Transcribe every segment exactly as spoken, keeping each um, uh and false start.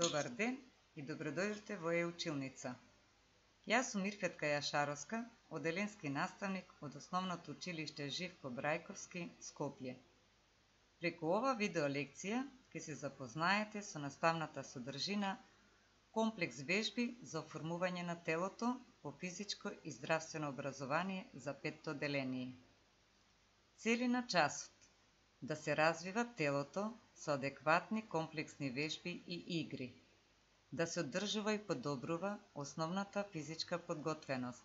Добар ден и добродојдовте во Е-училница. Јас сум Мирфетка Јашаровска, оделенски наставник од Основното училиште Живко Брајковски, Скопје. Преку ова видеолекција ќе се запознаете со наставната содржина комплекс вежби за оформување на телото по физичко и здравствено образование за петто одделение. Цели на часот: да се развива телото со адекватни комплексни вежби и игри, да се одржува и подобрува основната физичка подготвеност,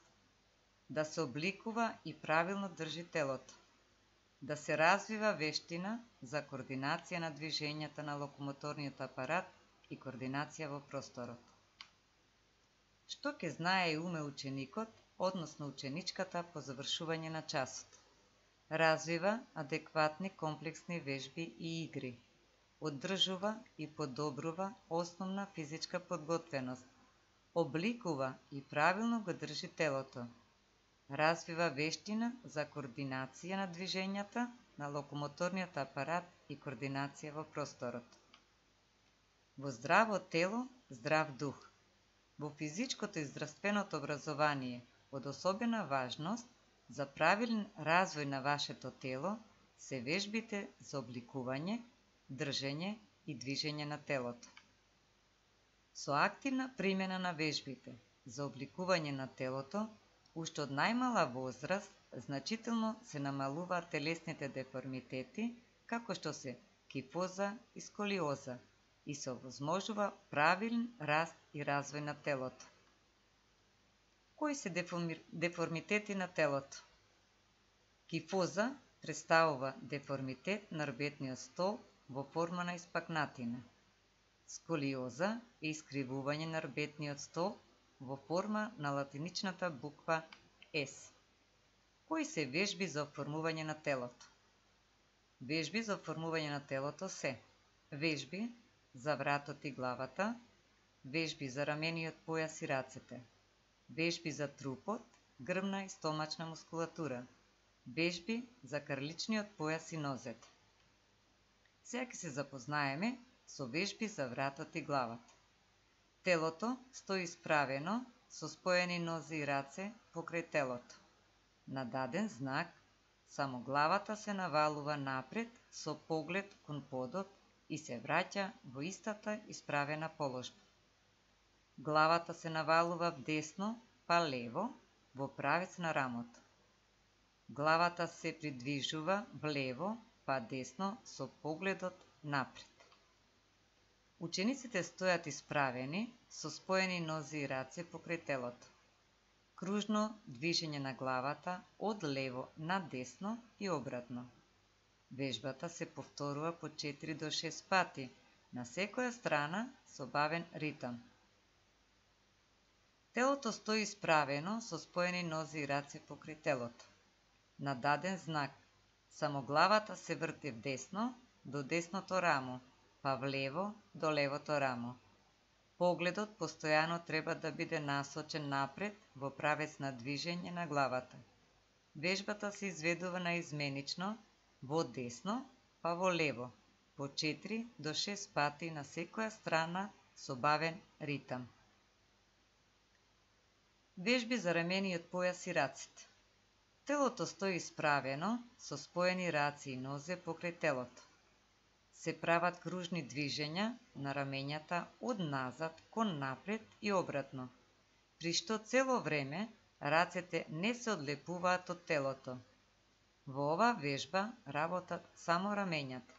да се обликува и правилно држи телото, да се развива вештина за координација на движењата на локомоторниот апарат и координација во просторот. Што ќе знае и уме ученикот, односно ученичката по завршување на часот? Развива адекватни комплексни вежби и игри, одржува и подобрува основна физичка подготвеност, обликува и правилно го држи телото, развива вештина за координација на движењата на локомоторниот апарат и координација во просторот. Во здраво тело, здрав дух. Во физичкото и здравственото образование од особена важност за правилен развој на вашето тело се вежбите за обликување, држење и движење на телото. Со активна примена на вежбите за обликување на телото, уште од најмала возраст, значително се намалуваат телесните деформитети, како што се кифоза и сколиоза, и се овозможува правилен раст и развој на телото. Кои се деформитети на телото? Кифоза представува деформитет на рбетниот столб во форма на испакнатина. Сколиоза е искривување на рбетниот столб во форма на латиничната буква С. Кои се вежби за оформување на телото? Вежби за оформување на телото се вежби за вратот и главата, вежби за рамениот појас и рацете, вежби за трупот, грбна и стомачна мускулатура, вежби за крличниот појас и нозете. Сега ќе се запознаеме со вежби за вратот и главата. Телото стои исправено со споени нозе и раце покрај телото. На даден знак, само главата се навалува напред со поглед кон подот и се враќа во истата исправена положба. Главата се навалува вдесно па лево во правец на рамото. Главата се придвижува влево па десно со погледот напред. Учениците стојат исправени со споени нозе и раце покрај телото. Кружно движење на главата од лево на десно и обратно. Вежбата се повторува по четири до шест пати, на секоја страна со бавен ритам. Телото стои исправено со споени нозе и раце покрај телото. На даден знак, само главата се врти вдесно до десното рамо, па влево до левото рамо. Погледот постојано треба да биде насочен напред во правец на движење на главата. Вежбата се изведува наизменично во десно па во лево, по четири до шест пати на секоја страна со бавен ритам. Вежби за рамениот појас и раците. Телото стои исправено со споени раце и нозе покрај телото. Се прават кружни движења на рамењата од назад кон напред и обратно, при што цело време рацете не се одлепуваат од телото. Во оваа вежба работат само рамењата.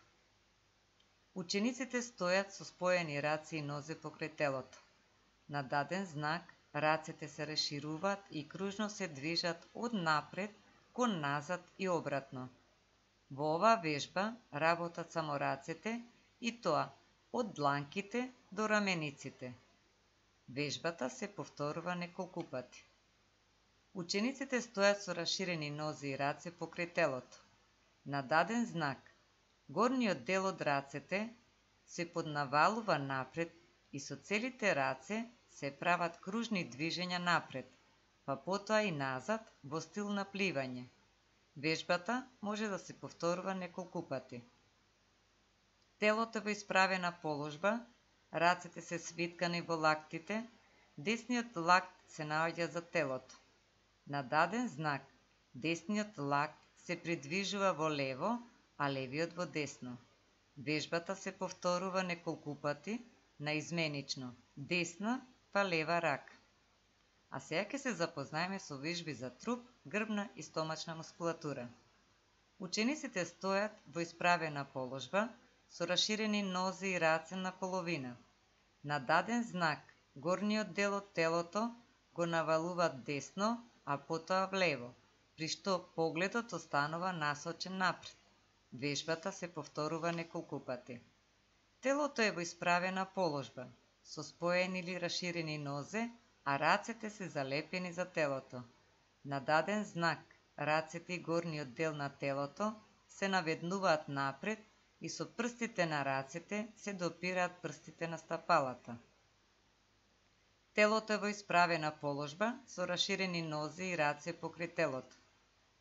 Учениците стојат со споени раце и нозе покрај телото. На даден знак рацете се расшируваат и кружно се движат од напред кон назад и обратно. Во оваа вежба работат само рацете и тоа од дланките до рамениците. Вежбата се повторува неколку пати. Учениците стојат со расширени нозе и раце покрај телото. На даден знак, горниот дел од рацете се поднавалува напред и со целите раце се прават кружни движења напред, па потоа и назад во стил на пливање. Вежбата може да се повторува неколку пати. Телото во исправена положба рацете се свиткани во лактите, десниот лакт се наоѓа за телото. На даден знак, десниот лакт се придвижува во лево, а левиот во десно. Вежбата се повторува неколку пати, наизменично, десна па лева рака. А сега ќе се запознаеме со вежби за труп, грбна и стомачна мускулатура. Учениците стојат во исправена положба, со раширени нозе и раце на половина. На даден знак, горниот дел од телото го навалуваат десно, а потоа влево, при што погледот останува насочен напред. Вежбата се повторува неколку пати. Телото е во исправена положба, со споени или раширени нозе, а рацете се залепени за телото. На даден знак, рацете и горниот дел на телото се наведнуваат напред и со прстите на рацете се допираат прстите на стапалата. Телото е во исправена положба, со раширени нозе и раце покрај телото.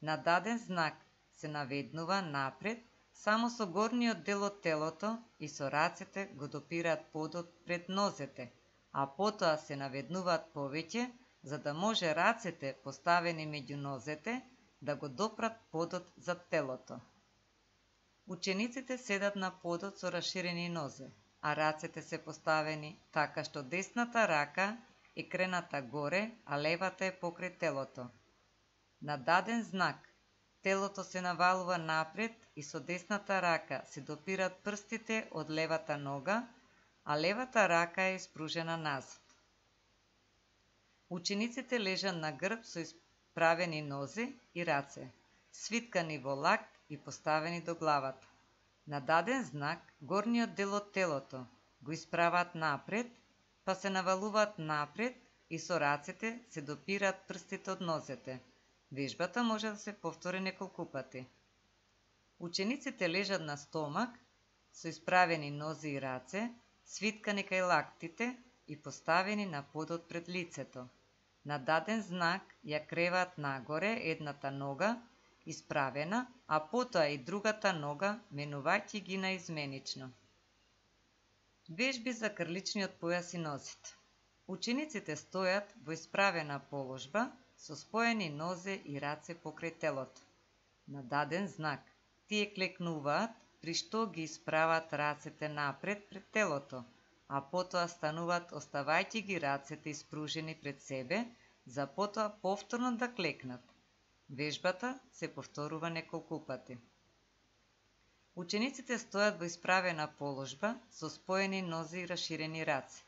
На даден знак се наведнува напред, само со горниот дел од телото и со рацете го допираат подот пред нозете, а потоа се наведнуваат повеќе, за да може рацете поставени меѓу нозете да го допрат подот за телото. Учениците седат на подот со раширени нозе, а рацете се поставени така што десната рака е крената горе, а левата е покрај телото. На даден знак, телото се навалува напред и со десната рака се допират прстите од левата нога, а левата рака е испружена назад. Учениците лежат на грб со исправени нозе и раце, свиткани во лакт и поставени до главата. На даден знак, горниот дел од телото го исправаат напред, па се навалуваат напред и со рацете се допираат прстите од нозете. Вежбата може да се повтори неколку пати. Учениците лежат на стомак со исправени нозе и раце, свиткани кај лактите и поставени на подот пред лицето. На даден знак ја креваат нагоре едната нога, исправена, а потоа и другата нога, менувајќи ги наизменично. Вежби за крличниот појас и нозите. Учениците стојат во исправена положба, со споени нозе и раце покрај телото. На даден знак, тие клекнуваат, при што ги исправаат рацете напред пред телото, а потоа стануваат оставајќи ги рацете испружени пред себе, за потоа повторно да клекнат. Вежбата се повторува неколку пати. Учениците стојат во исправена положба, со споени нозе и раширени раце.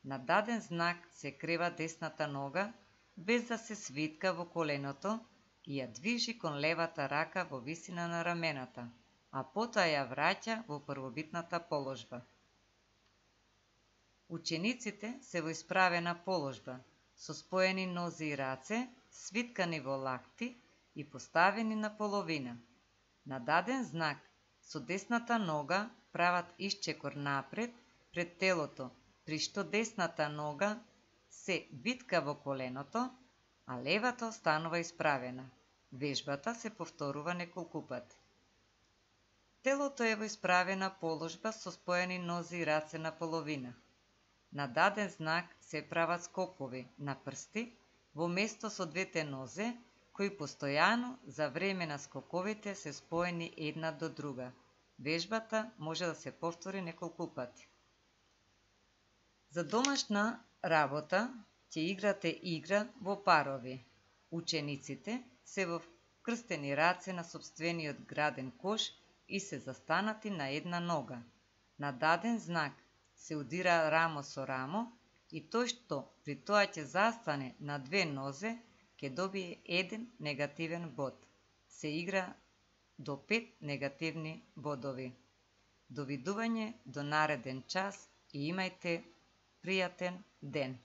На даден знак се крева десната нога, без да се свитка во коленото и ја движи кон левата рака во висина на рамената, а потоа ја враќа во првобитната положба. Учениците се во исправена положба, со споени нозе и раце, свиткани во лакти и поставени на половина. На даден знак, со десната нога прават исчекор напред пред телото, при што десната нога се витка во коленото, а левата останува исправена. Вежбата се повторува неколку пати. Телото е во исправена положба со споени нозе и раце на половина. На даден знак се прават скокови на прсти во место со двете нозе, кои постојано за време на скоковите се споени една до друга. Вежбата може да се повтори неколку пати. За домашна работа ќе играте игра во парови. Учениците се во крстени раце на сопствениот граден кош и се застанати на една нога. На даден знак се удира рамо со рамо и тој што при тоа ќе застане на две нозе ќе добие еден негативен бод. Се игра до пет негативни бодови. Довидување до нареден час и имајте пријатен ден.